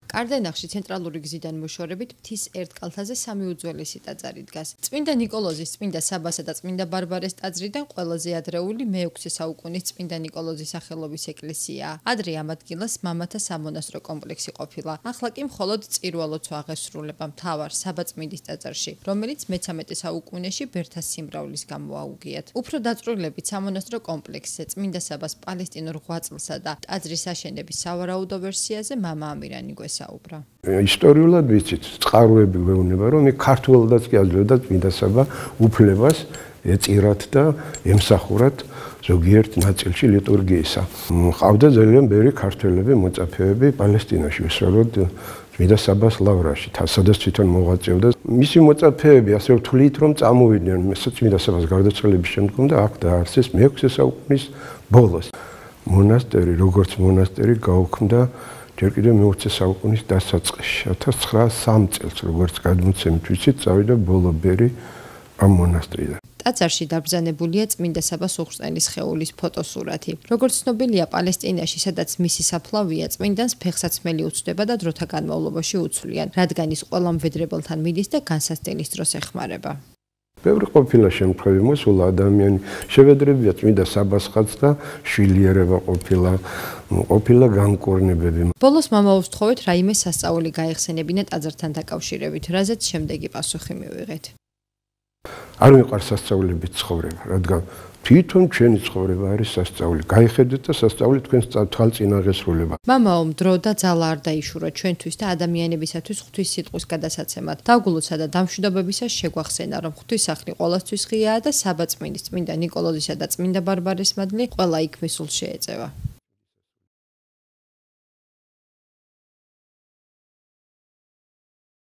კარდენახში ცენტრალური გზიდან მოშორებით მთის ერთ კალთაზე სამი უძველესი ტაძარი დგას. წმინდა ნიკოლოზის, წმინდა საბასა და წმინდა ბარბარეს ტაძრიდან ყველაზე ადრეული მე-6 საუკუნის წმინდა ნიკოლოზის სახელობის ეკლესიაა. ადრე ამ ადგილას მამათა სამონასტრო კომპლექსი ყოფილა. ახლა კი მხოლოდ წირვალოცვა აღესრულება მთავარ საბაწმინდის ტაძარში, რომელიც მე-13 საუკუნეში ბერთა სიმრავლის გამო აუგიათ. უფრო დაწვრილებით სამონასტრო კომპლექსზე წმინდა საბას პალესტინურ ღვაწლსა და ტაძრის აშენების სავარაუდო ვერსიაზე მამა ამირანი გვესაუბრა. ისტორიულად ვიცით, წყაროები გვეუბნება, რომ ქართველადაც კი აძლევდა წმინდა საბა უფლებას ეწირათ და ემსახურათ ზოგიერთ ნაწილში ლიტურგიისა. ყავდა ძალიან ბევრი ქართველები, მოწაფეები პალესტინაში, უბრალოდ წმინდა საბას ლავრაში, სადაც თვითონ მოღვაწეობდა. მისი მოწაფეები ასე ვთვლით, რომ წამოვიდნენ წმინდა საბას გარდაცვალების შემდგომ და აქ დაარსეს მე-6 საუკუნის ბოლოს. მონასტერი, როგორც მონასტერი გაუქმდა ჯერ კიდევ მე-20 საუკუნის დასაწყისში. 1903 წელს, როგორც გადმოცემით ვიცით, წავიდა ბოლო ბერი ამ მონასტრიდან. ტაძარში დაბრძანებულია წმინდა საბას უხრწნელის სხეულის ფოტოსურათი. როგორც ცნობილია, პალესტინაში, სადაც მისი საფლავია, წმინდანს ფეხსაცმელი უცდება და დროთა განმავლობაში უცვლიან, რადგან ის ყველა მვედრებელთან მიდის და განსასწრების დროს ეხმარება. ბევრი ყოფილა შემთხვევები, მოსულა ადამიანი, შევედრებია წმინდა საბასხაც და შვილიერება ყოფილა განკურნებები. ბოლოს მამა უსთხოვეთ რაიმე სასწაული გაეხსენებინა ტაძართან დაკავშირებით, რაზეც შემდეგი პასუხი მივიღეთ. არ მიყვარს სასწაულებით ცხოვრება, რადგან თვითონ ჩვენი ცხოვრება არის სასწაული. გაიხედეთ და სასწაული თქვენს თვალწინ აღესრულება. მამაო, დრო და ძალა არ დაიშურა ჩვენთვის და ადამიანებისათვის ღვთის სიტყვის გადასაცემად. დაგულოცა და დამშვიდობებისას შეგვახსენა, რომ ღვთისახლი ყოველთვის ღიაა და საბაწმინდის, წმინდა ნიკოლოზისა და წმინდა ბარბარეს მადლი ყველა იქ მისულ შეეწევა.